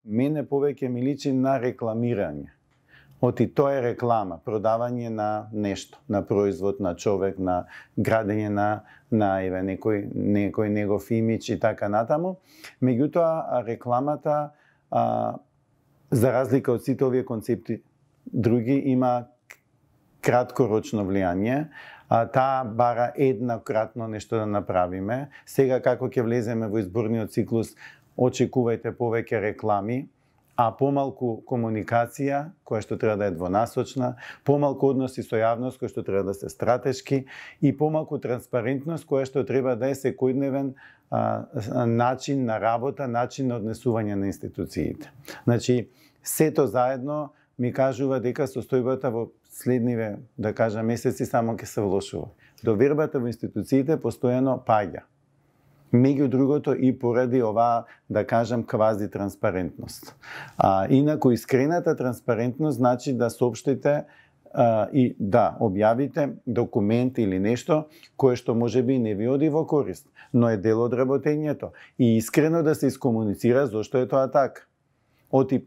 Мене повеќе ми личи на рекламирање. Оти тоа е реклама, продавање на нешто, на производ, на човек, на градење на некој негов имидж и така натаму. Меѓутоа, рекламата, за разлика од сите овие концепти други, има краткорочно влијание. Таа бара еднократно нешто да направиме. Сега како ќе влеземе во изборниот циклус, очекувајте повеќе реклами, а помалку комуникација, која што треба да е двонасочна, помалку односи со јавност, која што треба да се стратешки, и помалку транспарентност, која што треба да е секојдневен начин на работа, начин на однесување на институциите. Значи, сето заедно ми кажува дека состојбата во следниве, да кажам, месеци само ќе се влошува. Довербата во институциите постојано паѓа. Меѓу другото и поради оваа, да кажам, квази транспарентност. Инаку искрената транспарентност значи да соопштите и да објавите документ или нешто кое што можеби не ви оди во корист, но е дел од работењето и искрено да се искомуницира зошто е тоа така. Оти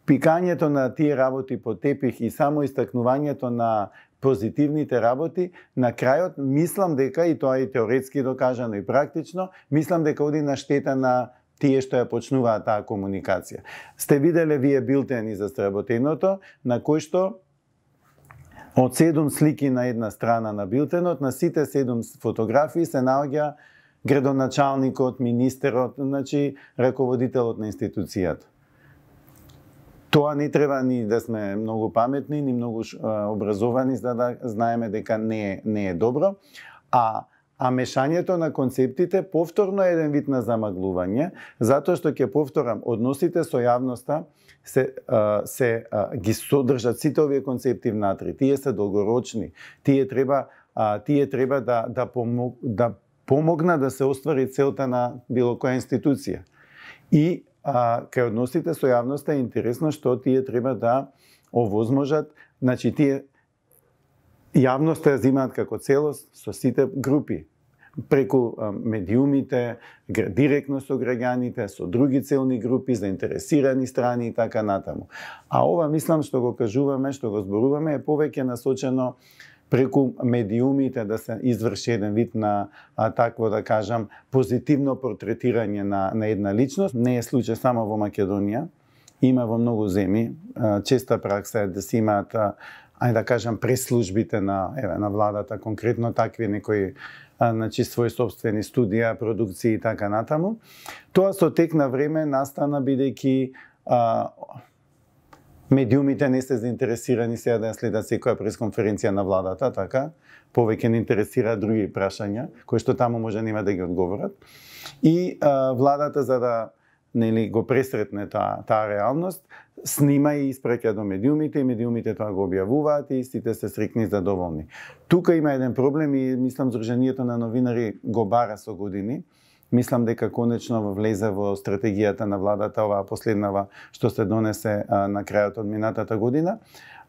пикањето на тие работи по тепих и само истакнувањето на позитивните работи, на крајот мислам дека, и тоа и теоретски докажано и практично, мислам дека оди на штета на тие што ја почнуваат таа комуникација. Сте виделе вие билтени за сработеното, на кој што од 7 слики на една страна на билтенот, на сите 7 фотографии се наоѓа градоначалникот, министерот, значи раководителот на институцијата. Тоа не треба ни да сме многу паметни, ни многу образовани за да знаеме дека не е добро, а мешањето на концептите повторно е еден вид на замаглување, затоа што ќе повторам, односите со јавноста ги содржат сите овие концепти внатре. Тие се долгорочни. Тие треба да помогнат да се оствари целта на било која институција. И кај односите со јавноста е интересно што тие треба да овозможат, значи тие јавноста ја земаат како целост со сите групи, преку медиумите, директно со граѓаните, со други целни групи, заинтересирани страни и така натаму. А ова мислам што го кажуваме, што го зборуваме е повеќе насочено преку медиумите да се изврши еден вид на такво, да кажам, позитивно портретирање на една личност. Не е случај само во Македонија, има во многу земји. Честа пракса е да се имаат, да кажам, преслужбите на владата, конкретно такви некои своји собствени студија, продукции и така натаму. Тоа со тек на време настана бидејќи медиумите не се заинтересирани сега да ја следат секоја пресконференција на владата, така, повеќе не интересира други прашања, кои што таму може нема да ги одговорат. И владата, за да го пресретне таа реалност, снима и испраќа до медиумите, и медиумите тоа го објавуваат и сите се среќни и задоволни. Тука има еден проблем и мислам Сдруженијето на новинари го бара со години. Мислам дека конечно влезе во стратегијата на владата, оваа последнава што се донесе на крајот од минатата година,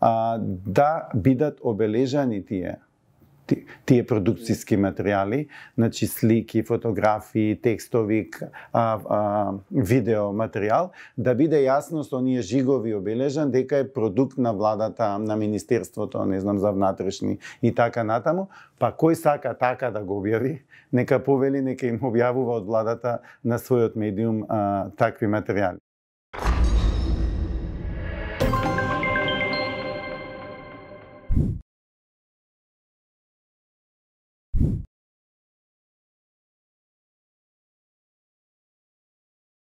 да бидат обележани тие продукциски материјали, значи слики, фотографии, текстови, видео материјал, да биде јасно со оние жигови обележан дека е продукт на владата, на Министерството, не знам, за внатрешни и така натаму, па кој сака така да го објави, нека повели, нека им објавува од владата на својот медиум такви материјали.